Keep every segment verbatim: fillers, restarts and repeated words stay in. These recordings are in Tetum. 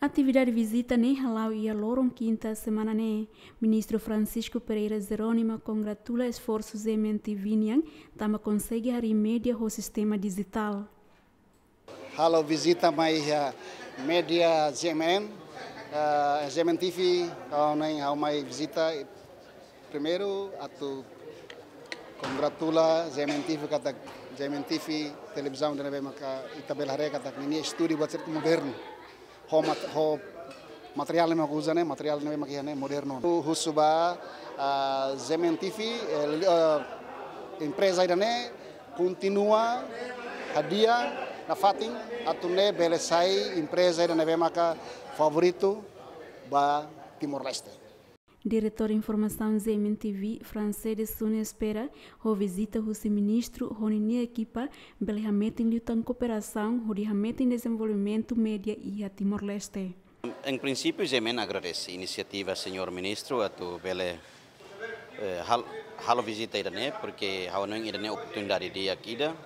Atividade vizita ne'e hala'o iha loron kinta semana ne'e. Ministru Francisco Pereira Jerónimo kongratula esforsu G M N T V nian, tanba konsege harii média ho sistema dijitál. Halo vizita mai iha média G M N, eh, G M N T V, ha'u ne'e ha'u mai vizita primeiru atu kongratula G M N T V katak G M N T V televizaun ida ne'ebé maka ita bele haree katak ninia estúdiu buat sira modernu. Ho mat-, ho materiál ne'ebé mak uza ne'e, materiál ne'ebé mak iha ne'e modernu. Hu-, husu ba, ah, G M N T V, eh, li-, eh, empreza ida ne'e kontinua hadi'a nafatin atu nune'e bele sai empreza ida ne'ebé maka favoritu ba Timor-Leste. Diretór Informasaun G M N T V, Francede Sune, espera ho vizita husi ministru ho ninia ekipa bele hametin liután kooperasaun hodi hametin dezenvolvimentu média iha Timor-Leste. Em princípio, G M N agradese inisiativa señór ministru atu bele, eh, hal-, halo vizita ida ne'e, porque ha'u hanoin ida ne'e oportunidade di'ak ida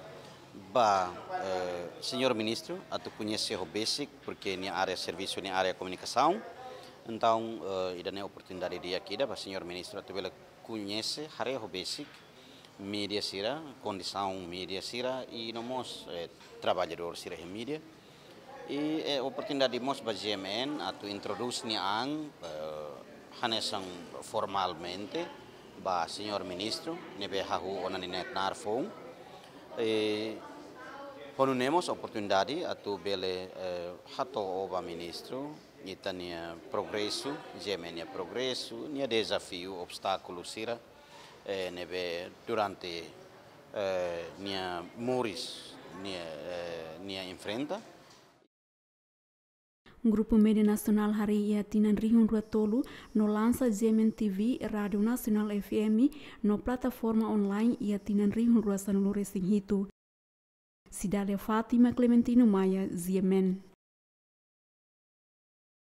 ba, eh, señór ministru atu koñese ho besik, porque nia área servisu, nia área komunikasaun. Entaun, eh, ida ne'e oportunidade di'ak ida ba señór ministru atu bele koñese, haree ho besik média sira, kondisaun média sira, i no mós, eh, traballadór sira iha média. I, eh, oportunidade mós ba G M N atu introdús nia an, eh, hanesan formalmente ba señór ministru, ne'ebé hahú ona ninia knaar foun. I ho nune'e mós oportunidade atu bele, eh, hato'o ba ministru ita-nia progresu, G M N nia progresu, nia dezafiu, obstákulu sira, eh, ne'ebé durante, eh, nia moris, nia, eh, nia enfrenta. Grupu Média Nasionál harii iha tinan rihun rua tolu no lansa G M N T V, Rádiu Nasionál F M no plataforma online iha tinan rihun rua sanulu resin hitu. Cidália Fátima, Clementino Maia, G M N.